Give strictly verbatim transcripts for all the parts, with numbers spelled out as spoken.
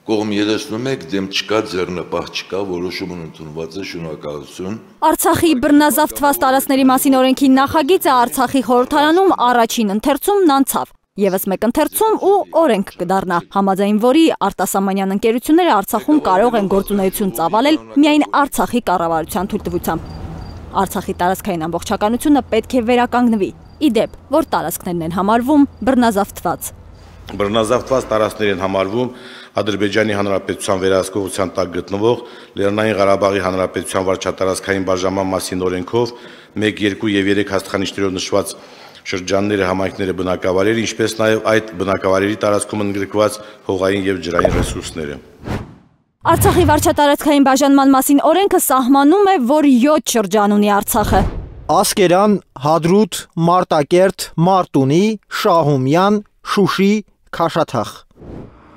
Կողմ երեսնում եք, դեմ չկա, ձեռնպահ չկա, որոշումն ընդունված է, շնորհակալություն։ Արցախի բռնազավթված տարածքների մասին օրենքի նախագիծը Արցախի խորհրդարանում առաջին ընթերցումն անցավ։ Եվս մեկ ընթերցում ու օրենք կդառնա, համաձայն որի արտասահմանյան ընկերությունները Արցախում կարող են գործունեություն ծավալել միայն Արցախի կառավարության թույլտվությամբ։ Արցախի տարածքային ամբողջականությունը պետք է վերականգնվի, ի դեպ, որ տարածքներն են համարվում բռնազավթված։ Բռնազավթված տարածքներ են համարվում Ադրբեջանի Հանրապետության վերահսկողության տակ գտնվող Լեռնային Ղարաբաղի Հանրապետության վարչատարածքային բաժանման մասին օրենքով մեկ, երկու և երեք հաստատանիշներով նշված շրջանները, համայնքները, բնակավայրերը, ինչպես նաև այդ բնակավայրերի տարածքում ընդգրկված հողային և ջրային ռեսուրսները։ Արցախի վարչատարածքային բաժանման մասին օրենքը սահմանում է, որ յոթ շրջան ունի Արցախը։ Ասկերան, Հադրութ, Մարտակերտ, Մարտունի, Շահումյան, Շուշի, Քաշաթաղ։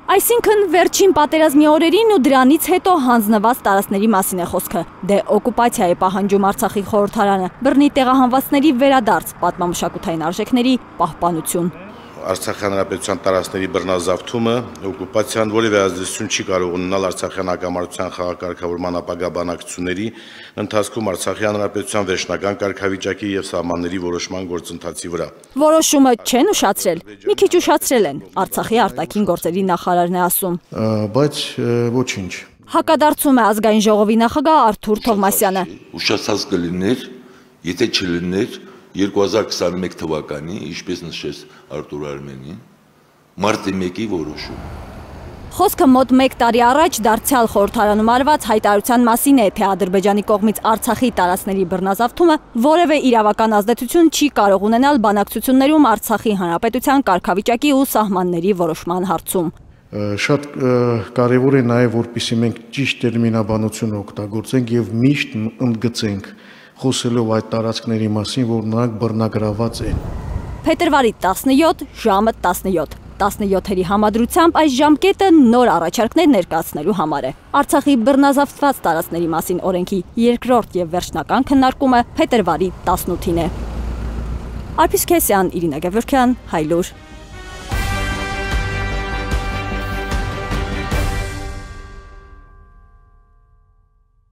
Այսինքն վերջին պատերազմի օրերին ու դրանից հետո հանձնված տարածքների մասին է խոսքը։ Դե օկուպացիա է պահանջում Արցախի խորհրդարանը, բռնի տեղահանվածների վերադարձ, պատմամշակութային արժեքների պահպանություն։ Արցախի հանրապետության տարածքների բռնազավթումը, օկուպացիան որևէ ազդեցություն չի կարող ունենալ արցախյան հակամարտության խաղակարգավորման ապագա բանակցությունների ընթացքում Արցախի հանրապետության վերջնական կարգավիճակի եւ սահմանների որոշման գործընթացի վրա։ Որոշումը չեն ուշացրել, մի քիչ ուշացրել են, Արցախի արտաքին գործերի նախարարն է ասում։ Բայց ոչինչ։ Հակադարձում է ազգային ժողովի նախագահ Արթուր Թովմասյանը։ Ուշացած կլիներ, եթե չլիներ երկու հազար քսաներեք թվականի, ինչպես նշեց Արտուր Արմենին, մարտի մեկի որոշում։ Խոսքը մոտ մեկ տարի առաջ դարձյալ խորհրդարանում արված հայտարարության մասին է, թե Ադրբեջանի կողմից Արցախի տարածքների բռնազավթումը որևէ իրավական ազդեցություն չի կարող ունենալ բանակցություններում Արցախի հանրապետության կարգավիճակի ու սահմանների որոշման հարցում։ Շատ կարևոր է նաև, որպեսզի մենք ճիշտ տերմինաբանություն օգտագործենք եւ միշտ ընդգծենք խոսելով այդ տարածքների մասին, որ նրանք բռնագրաված են։ Փետրվարի տասնյոթ ժամը տասնյոթ տասնյոթերի համադրությամբ այս ժամկետը նոր առաջարկներ ներկայացնելու համար է։ Արցախի բռնազավթված տարածքների մասին օրենքի երկրորդ եւ վերջնական քննարկումը փետրվարի տասնութին է։ Արփիս Քեսյան, Իրինա Գևորգյան, Հայլուր։